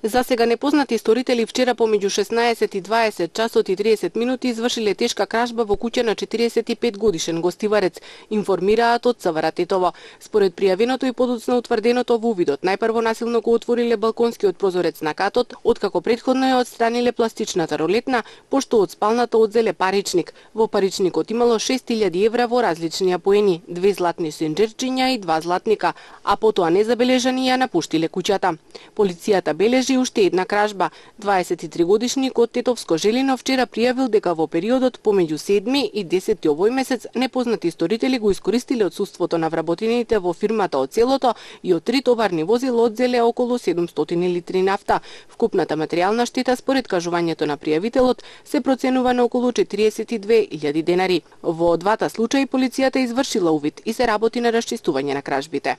За сега непознати сторители вчера помеѓу 16 и 20 часот и 30 минути извршиле тешка кражба во куќа на 45 годишен гостиварец, информираат од ЦВР Тетово. Според пријавеното и подоцна утврденото во увидот, најпрво насилно го отвориле балконскиот прозорец на катот, откако претходно ја отстраниле пластичната ролетна, пошто од спалната одзеле паричник. Во паричникот имало 6000 евра во различни апоени, 2 златни сенџерчиња и 2 златника, а потоа незабележани ја напуштиле куќата. Полицијата бележи уште една кражба. 23-годишник од Тетовско Желино вчера пријавил дека во периодот помеѓу 7 и 10 овој месец непознати сторители го искористиле отсуството на вработените во фирмата од селото и од 3 товарни возила одзеле околу 700 литри нафта. Вкупната материјална штета според кажувањето на пријавителот се проценува на околу 42.000 денари. Во двата случаи полицијата извршила увид и се работи на расчистување на кражбите.